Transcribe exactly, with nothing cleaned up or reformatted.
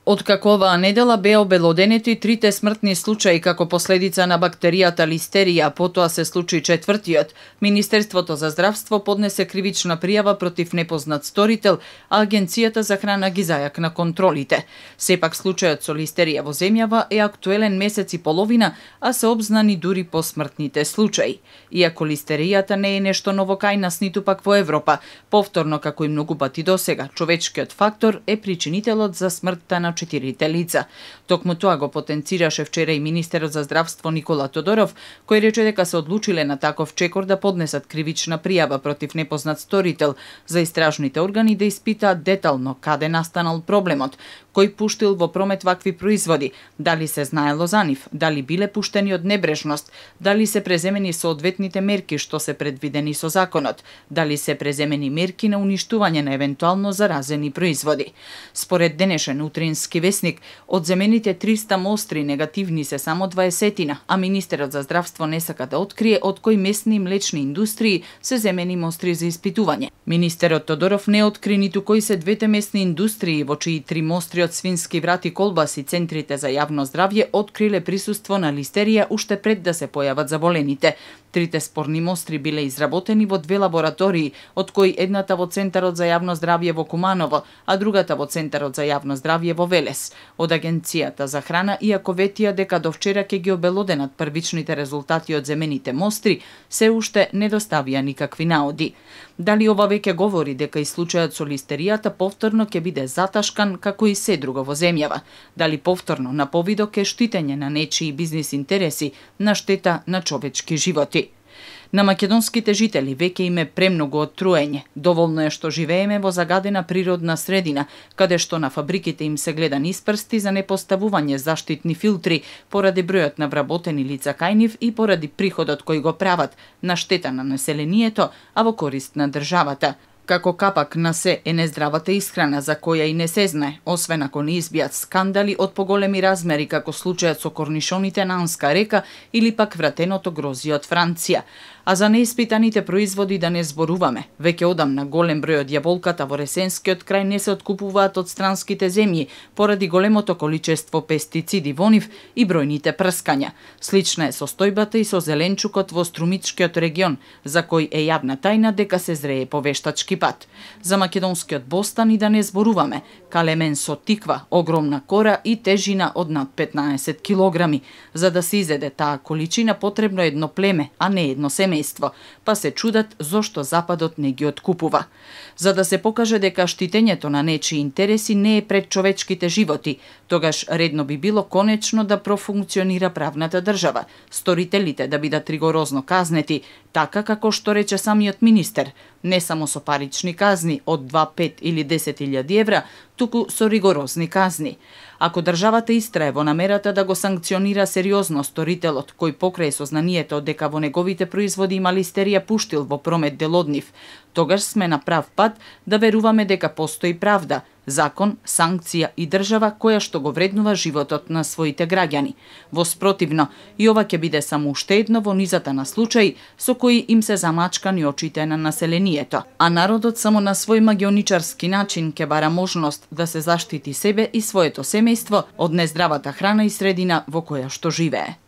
Откако оваа недела беа обелоденети трите смртни случаи како последица на бактеријата листерија, потоа се случи четвртиот, Министерството за здравство поднесе кривична пријава против непознат сторител, а Агенцијата за храна ги зајакна контролите. Сепак случајот со листерија во земјава е актуелен месец и половина, а се обзнани дури по смртните случаи. Иако листеријата не е нешто ново кај нас, ниту пак во Европа, повторно како и многу пати досега, човечкиот фактор е причинителот за смртта на четирите лица. Токму тоа го потенцираше вчера и министерот за здравство Никола Тодоров, кој рече дека се одлучиле на таков чекор да поднесат кривична пријава против непознат сторител, за истражните органи да испитаат детално каде настанал проблемот, кој пуштил во промет вакви производи, дали се знаело за нив, дали биле пуштени од небрежност, дали се преземени соодветните мерки што се предвидени со законот, дали се преземени мерки на уништување на евентуално заразени производи. Според денешен утрински весник, од земените триста мостри негативни се само дваесетина, а министерот за здравство не сака да открие од кои месни млечни индустрии се земени мостри за испитување. Министерот Тодоров не откри ниту кои се двете месни индустрии во чии три мостри од свински врат и колбаси центрите за јавно здравје откриле присуство на листерија уште пред да се појават заболените. Трите спорни мостри биле изработени во две лаборатории, од кои едната во Центарот за јавно здравје во Куманово, а другата во Центарот за јавно здравје во Велес. Од Агенцијата за храна, иако ветија дека до вчера ќе ги обелоденат првичните резултати од земените мостри, се уште не доставија никакви наоди. Дали ова веќе говори дека и случајот со листеријата повторно ќе биде заташкан како и се друго во земјава? Дали повторно на повидок е штитење на нечии бизнис интереси на штета на човечки животи? На македонските жители веќе им е премногу од труење. Доволно е што живееме во загадена природна средина, каде што на фабриките им се гледа низ прсти за непоставување заштитни филтри, поради бројот на вработени лица кај нив и поради приходот кој го прават, на штета на населението, а во корист на државата. Како капак на се е нездравата исхрана за која и не се знае, освен ако не избијат скандали од поголеми размери како случајот со корнишоните на Анска река или пак вратеното грозје од Франција. А за неиспитаните производи да не зборуваме. Веќе одамна голем број од јаболката во Ресенскиот крај не се откупуваат од странските земји поради големото количество пестициди во нив и бројните прскања. Слична е состојбата и со зеленчукот во Струмичкиот регион, за кој е јавна тајна дека се зрее по вештачки пат. За македонскиот бостан и да не зборуваме. Калемен со тиква, огромна кора и тежина од над петнаесет килограми. За да се изеде таа количина потребно едно племе, а не едно семејство, па се чудат зошто Западот не ги откупува. За да се покаже дека штитењето на нечии интереси не е пред човечките животи, тогаш редно би било конечно да профункционира правната држава, сторителите да бидат ригорозно казнети, така како што рече самиот министер, не само со парични казни од два, пет или десет илјади евра, туку со ригорозни казни. Ако државата истрае во намерата да го санкционира сериозно сторителот кој покрај сознанието дека во неговите производи има листерија пуштил во промет дел од нив, тогаш сме на прав пат да веруваме дека постои правда, закон, санкција и држава која што го вреднува животот на своите граѓани. Во спротивно, и ова ќе биде само уште едно во низата на случаи со кои им се замачкани очите на населението, а народот само на свој магионичарски начин ќе бара можност да се заштити себе и своето семејство од нездравата храна и средина во која што живее.